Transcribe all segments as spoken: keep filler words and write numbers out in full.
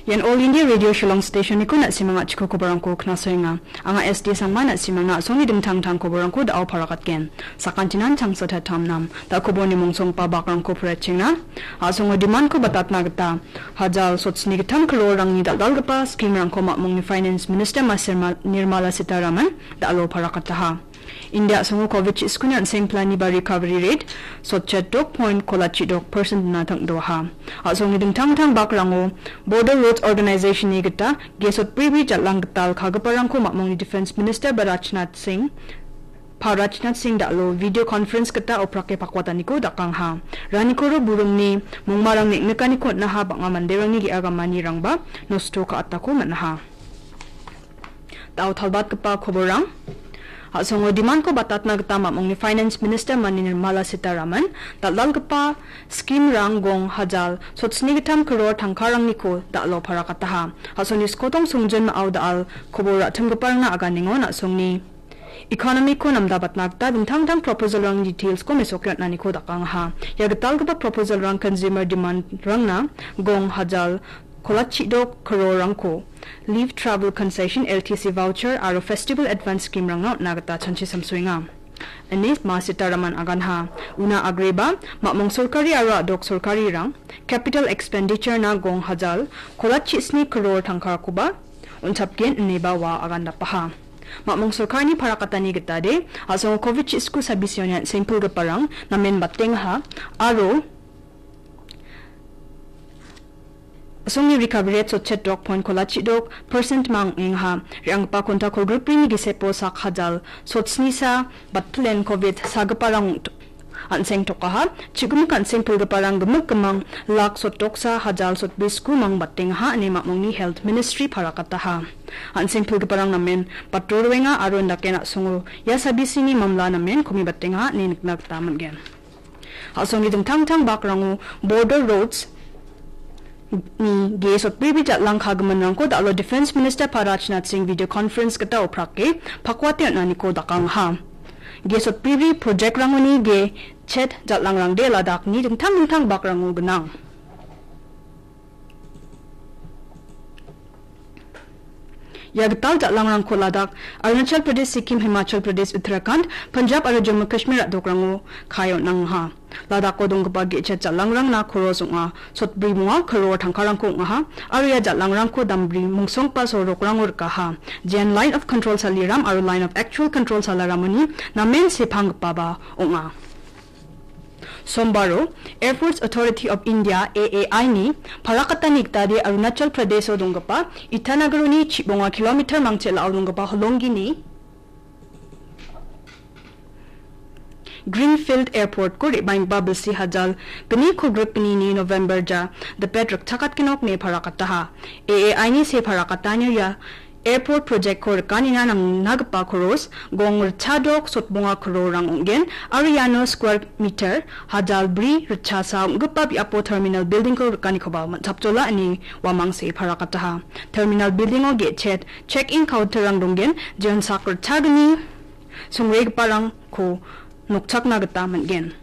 Ian All India Radio Shillong Station-niko na·simang a·chiko koborangko knasoenga. Anga S D Sangma na·simangna a·songni dingtang dingtang koborangko da·o parakatgen. Sakantinan changsa tatam nam, da koborni mongsongpa bakrangko poraichengna. A·songo demand-ko batatna gita hajal sotsni gittam crore-rangni dal·dalgipa scheme-rangko mamongni Finance Minister Maserma Nirmala Sitharaman da·alo parakataha. India a·songo covid chiskuni an·seng plan-ni ba recovery rate sotchet dok point kolachi dok percent-na tang·doaha. A·songni dingtang dingtang bakrango Border Roads Organization-ni gita gesot bribri jal·ang gital kagiparangko mamongni Defence Minister ba Rajnath Singh, pa Rajnath Singh da·alo video conference gita oprake pakwataniko dakangaha. Ranikoro burungni mongmarang neng·nikaniko on·aha, bang·a manderangni ge·a gamanirangba nosto ka·atako man·aha. Da·o talbatgipa koborang. A·songo demand-ko batatna gita mamongni Finance Minister Mani Nirmala Sitharaman dal·dalgipa scheme-rang gong hajal sotsni gittam crore tangkarangniko da·alo parakataha. A·songni skotong songjinmao da·al kobor ra·timgiparangna aganengon a·songni economy-ko namdabatna gita dingtang dingtang proposal-rangni details-ko mesoke on·aniko dakangaha. Ia gitalgipa proposal-rang consumer demand-rangna gong hajal kolachi dok crore-rangko leave travel concession, L T C voucher aro festival advance scheme-rangna on·na gita chanchi samsoenga. Ine Ma Sitharaman aganha. Una agreba, mamong sorkari aro a·dok sorkarirang capital expenditure-na gong hajal kolachi sni crore tangkarakoba on·chapgen ineba ua agandapaha. Mamong sorkarini parakatani gitade, a·songo covid chisko sabisioni an·sengpilgiparang namen batengaha aro a·songni recovery rate sotchet dok point kolachi dok percent mang ong·engaha. Re·anggipa konta kolgrikbrini gisepo sak hajal sotsnisa batpilen covid sagiparang ong-, an·seng tokaha. Chigimik an·seng pilgiparang gimik gimang lak sotdoksa hajal sotbrisku mang batengaha ine mamongni Health Ministry parakataha. An·seng pilgiparang namen batro roenga aro indake na·songo ia sabisini mamla namen komi batengaha ine nikna gita man·gen. A·songni dingtang dingtang bakrango Border Roads-ni gesot bribri jal·ang kagiminrangko da·alo Defence Minister pa Rajnath Singh video conference gita oprake pakwate on·aniko dakangaha. Gesot bribri project-rangoni ge chet jal·angrangde Ladakh-ni dingtang dingtang bakrango gnang. Ia gital jal·angrangko Ladakh, Arunachal Pradesh, Sikkim, Himachal Pradesh, Uttarakhand, Punjab aro Jammu Kashmir a·dokrango kae on·angaha. Ladakho donggipa ge·chet jal·angrangna koros ong·a, sotbri monga crore tangkarangko ong·aha, aro ia jal·angrangko dambri mongsongpa sorokrango rikaha. Jean Line of Control saliram aro Line of Actual Control salaramoni namen sepanggipaba ong·a. Sombaro Airports Authority of India, A A I-ni parakatani gitade Arunachal Pradesh-o donggipa Itanagaroni chibonga kilometer mangche la·o donggipa holongini Greenfield Airport-ko re·baenggipa bilsi hajal gni kolgrikgnini November ja dipet rikchakatgenok ine parakataha. A A I-ni se parakatanio ia Airport project-ko rikanina nangnagipa koros gong ritchadok sotbonga crore-rang ong·gen aro iano square meter hajal bri ritchasa ong·gipa biapo terminal building-ko rikanikoba man·chapjola ine uamangse parakataha. Terminal building-o ge·chet check-in counter-rang donggen, jeon sak ritchagni songregiparangko nokchakna gita man·gen.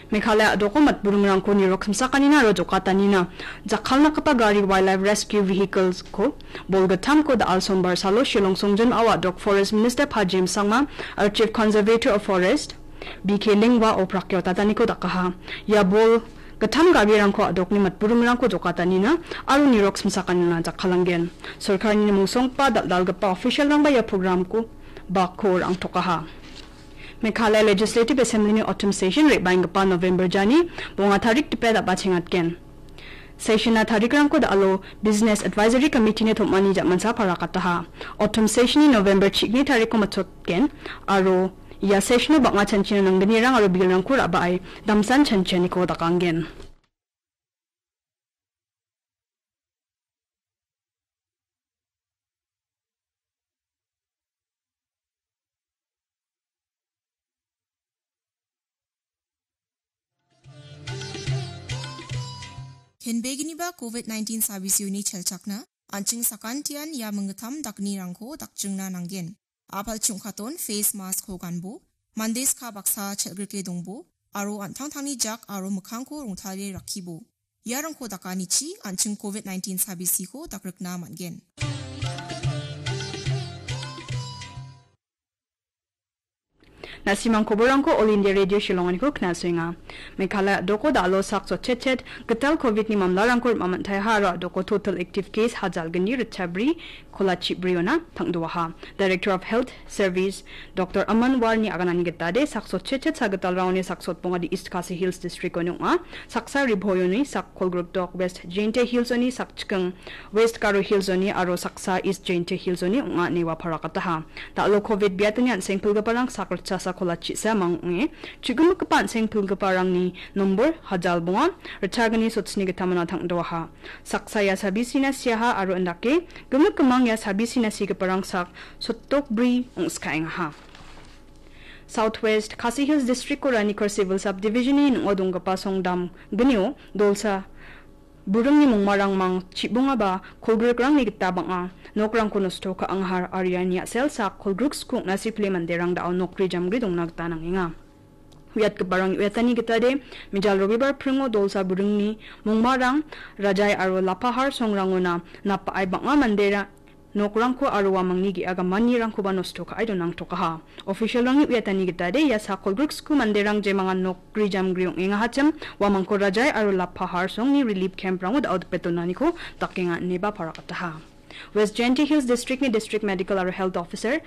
Meghalaya a·doko matburingrangko nirok simsakanina aro jokatanina jakkalnakgipa gari Wildlife Rescue Vehicles-ko bolgittamko da·al Sombar salo Shillong songjinmao a·dok Forest Minister Pajem Sangma aro Chief Conservator of Forest B K Lingwa oprake otataniko dakaha. Ia bol gittam garirangko a·dokni matburingrangko jokatanina aro nirok simsakanina jakkalanggen. Sorkarini mungsonggipa dal·dalgipa official-rangba ia program-ko bakko ra·angtokaha. Meghalaya Legislative Assembly-ni autumn session re·baenggipa November jani bonga tarik dipe dal·a chengatgen. Session-na tarikrangko da·alo Business Advisory Committee-ni tom·ani ja·mansa parakataha. Autumn session-ni November chigni tarikko matchotgen aro ia session-o bang·a chanchina nanggnirang aro bill-rangko ra·bae damsan chanchianiko dakanggen. Kenbeginiba covid nineteen sabisioni chelchakna, an·ching sakantian ia minggittam daknirangko dakchingna nanggen. A·pal ching·katon face mask-ko ganbo, mande ska baksa chelgrike dongbo, aro an·tangtangni jak aro mikkangko rongtale rakkibo. Iarangko dakanichi an·ching covid nineteen sabisiko dakrikna man·gen. Na·simang koborrangko All India Radio Shillonganiko knasoenga. Meghalaya a·doko da·alo sak sotchetchet gital covid-ni mamlarangko rima man·taiha aro a·doko total active case hajalgni ritchabri kolachibriona tangdoaha. Director of Health Service Doctor Aman Warni aganani gitade sak sotchetchet sagitalrangoni sak sotbongade East Khasi Hills District-oni ong·a. Saksa Riboyoni sak kolgrikdok West Jaintia Hills-oni sak chiking West Garo Hills-oni aro saksa East Jaintia Hills-oni ong·a ine ua parakataha. Da·alo covid biatani an·seng pilgiparang sak ritchasa kolachisa mang ong·e, chu·gimikgipa an·seng pilgiparangni nombor hajal bonga, ritchagni sotsni gitamona tangdoaha. Saksa ia sabisina siaha aro indake, gimik gimang ia sabisina sigiparang sak sotdokbri ong·skaengaha. South West Khasi Hills District-o Ranikor Civil Subdivision-ni ning·o donggipa songdam gnio dolsa buringni mongmarangmang chibongaba kolgrikrangni gita bang·a nokrangko nosto ka·angahar aro iani a·sel sak kolgrik skukna sipile manderang da·o nokri jamgri dongna gita nangenga. Uiatgiparang uiatani gitade, Mijal Robibar pringo dolsa buringni mongmarang Rajai aro Lapahar songrangona napa·ai bang·a mandera nokrangko aro uamangni ge·a gamanirangkoba nosto ka·e donangtokaha. Official-rangni uiatani gitade, ia sak kolgrik sku manderang jemangan nokgri jamgri ong·engahachim, uamangko Rajai aro Lapahar songni relief camp-rango da·o dipe donaniko dakenga ineba parakataha. West Jaintia Hills District-ni District Medical aro Health Officer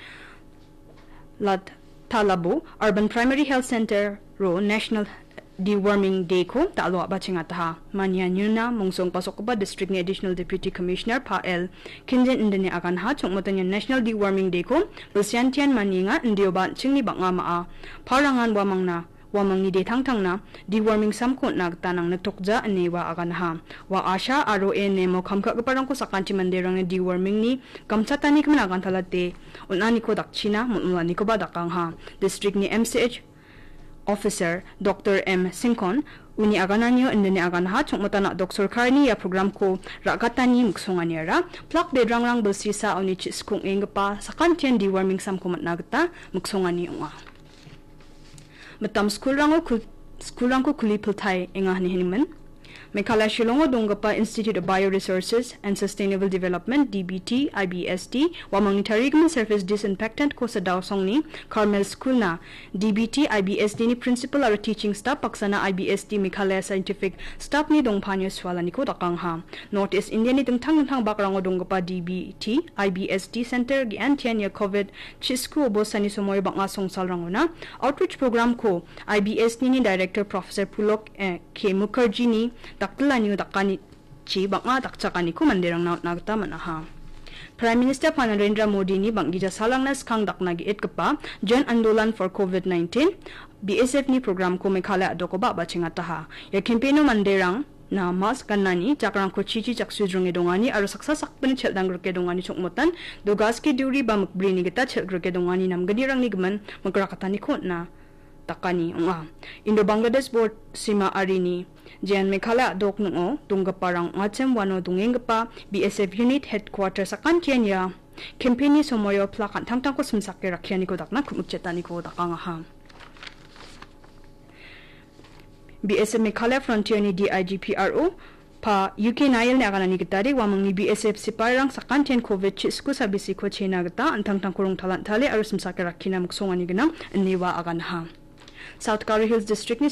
Lat Talabo Urban Primary Health Center-o National Deworming Day-ko da·alo a·bachengataha. Mania niuna mongsongpasokgipa district-ni Additional Deputy Commissioner Pa L Kinjin indine aganha chongmotani National Deworming Day-ko bilsiantian manienga indioba an·chingni bang·a ma·a parangan uamangna uamangni detangtangna deworming samko on·na gita nangniktokja ine ua aganaha. Ua asha aro A N M-o kam ka·giparangko sakanti manderangni deworming-ni gamchatanigimin agantalate on·aniko dakchina mol·molanikoba dakangha. District-ni M C H Officer Doctor M Singkon uni agananio indine aganaha chongmotana a·dok sorkarini ia program-ko ra·gatani miksonganiara plak bedrangrang bilsisa uni chi-, skong enggipa sakantian deworming samko man·na gita miksongani ong·a. Mitam skulrango kul-, skulrangko kuli piltai enga ine hinimin. Meghalaya Shillongo donggipa Institute of Bioresources and Sustainable Development, D B T, I B S D, uamangni tarigimin surface disinfectant-ko Sadaosongni Carmel School-na D B T, I B S D-ni principal aro teaching staff baksana I B S D Meghalaya Scientific Staff-ni dongpanio sualaniko dakangha. North East India-ni dingtang dingtang bakrango donggipa D B T, I B S D Center ge·antian ia covid chi-, sku obostani somoio bang·a songsalrangona outreach program-ko I B S D-ni Director Professor Pulok, eh, K Mukherjee-ni daktilanio dakanichi bang·a dakchakaniko manderangna on·na gita man·aha. Prime Minister Pa Narendra Modi-ni bang·gija salrangna skang dakna ge·etgipa Jan Andolan for covid nineteen, B S F-ni program-ko Meghalaya a·dokoba a·bachengataha. Ia campaign-o manderang na mask ganani, jakrangko chichi jaksudringe dongani aro saksa sakbrini chel·danggrike dongani chongmotan, dugaske duri ba mikbrini gita chel·grike dongani namgnirangni gimin migrakataniko on·na dakani ong·a. Indo-Bangladesh bor sima arini Jain Meghalaya a·dok ning·o donggiparang ong·achim uano dongenggipa B S F unit headquarter sakantian ia campaign-ni somoio plak an·tangtangko simsake rakkianiko dakna ku·mikchetaniko dakangaha. B S F Meghalaya Frontier-ni D I G P R O Pa U K Nail-ni aganani gitade uamangni B S F sipairang sakantian covid chi-, sku sabisiko chena gita an·tangtangko rongtalantale aro simsake rakkina miksongani gnang ine ua aganaha. South Garo Hills District-ni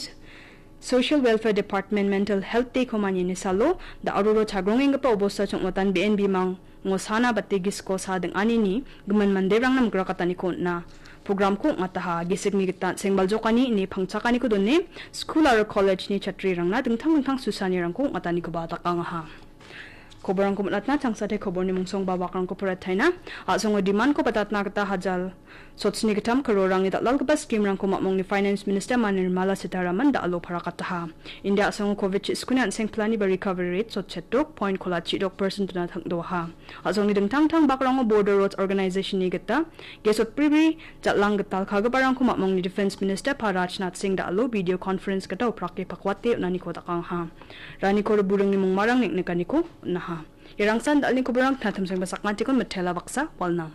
Social Welfare Department Mental Health Day-ko maniani salo da·aroro chagrongenggipa obosta chongmotan be·en bimang ngosana bate gisiko sa ding·anini gimin manderangna migrakataniko on·a. Program-ko ong·ataha. Gisikni gita sengbaljokani ine pangchakaniko done skul aro college-ni chatrirangna dingtang dingtang susanirangko ong·atanikoba dakangaha. Koborangko minatna changsate koborni mungsong ba wakrangko porataina. A·songo demand-ko batatna gita hajal sotsni gittam karorangni dal·dalgipa scheme-rangko mamongni Finance Minister Ma Nirmala Sitharaman da·alo parakataha. India a·songo covid chi-, skuni an·seng pilani ba recovery rate sotchet dok point kolachi dok percent-ona tangdoaha. A·songni dingtang dingtang bakrango Border Roads Organization-ni gita gesotbribri jal·ang gital kagiparangko mamongni Defense Minister Pa Rajnath Singh da·alo video conference gita oprake pakwate on·aniko dakangaha. Ranikor buringni mongmarang neng·nikaniko on·aha. Iarangsan dal·ni koborang tinatim sengba sakantikon mitela baksa walnang.